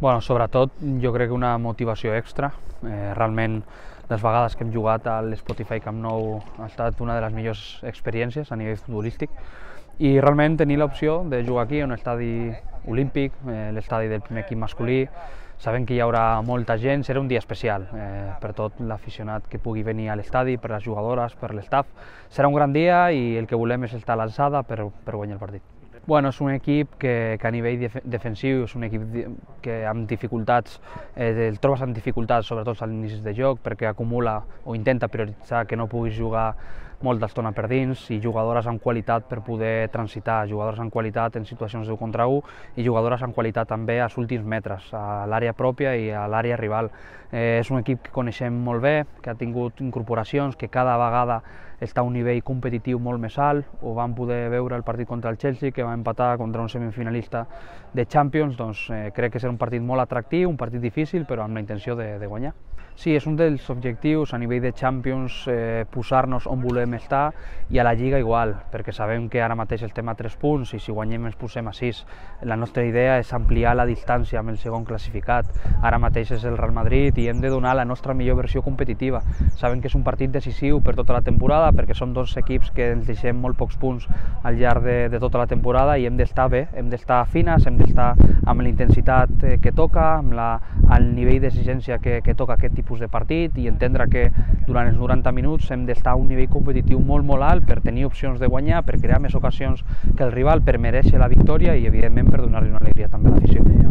Bueno, sobretot jo crec que una motivació extra. Realment les vegades que hem jugat a l'Spotify Camp Nou ha estat una de les millors experiències a nivell futbolístic i realment tenir l'opció de jugar aquí, un estadi olímpic, l'estadi del primer equip masculí, sabent que hi haurà molta gent, serà un dia especial per tot l'aficionat que pugui venir a l'estadi, per les jugadores, per l'estaf. Serà un gran dia i el que volem és estar a l'alçada per guanyar el partit. Bueno, és un equip que a nivell defensiu és un equip que amb dificultats, el trobes amb dificultats sobretot als inicis de joc perquè acumula o intenta prioritzar que no puguis jugar molta estona per dins i jugadores amb qualitat per poder transitar, jugadores amb qualitat en situacions d'1 contra 1 i jugadores amb qualitat també als últims metres, a l'àrea pròpia i a l'àrea rival. És un equip que coneixem molt bé, que ha tingut incorporacions, que cada vegada està a un nivell competitiu molt més alt. Ho vam poder veure el partit contra el Chelsea, que va empatar contra un semifinalista de Champions. Doncs crec que serà un partit molt atractiu, un partit difícil, però amb la intenció de guanyar. Sí, és un dels objectius a nivell de Champions, posar-nos on volem estar i a la Lliga igual, perquè sabem que ara mateix estem a 3 punts i si guanyem ens posem a 6. La nostra idea és ampliar la distància amb el segon classificat. Ara mateix és el Real Madrid i hem de donar la nostra millor versió competitiva. Sabem que és un partit decisiu per tota la temporada perquè som dos equips que ens deixem molt pocs punts al llarg de tota la temporada i hem d'estar bé, hem d'estar fines, hem d'estar amb la intensitat que toca, amb el nivell d'exigència que toca aquest tipus de partit i entendre que durant els 90 minuts hem d'estar a un nivell competitiu molt alt per tenir opcions de guanyar, per crear més ocasions que el rival, per merèixer la victòria i evidentment per donar-li una alegria també a l'afició.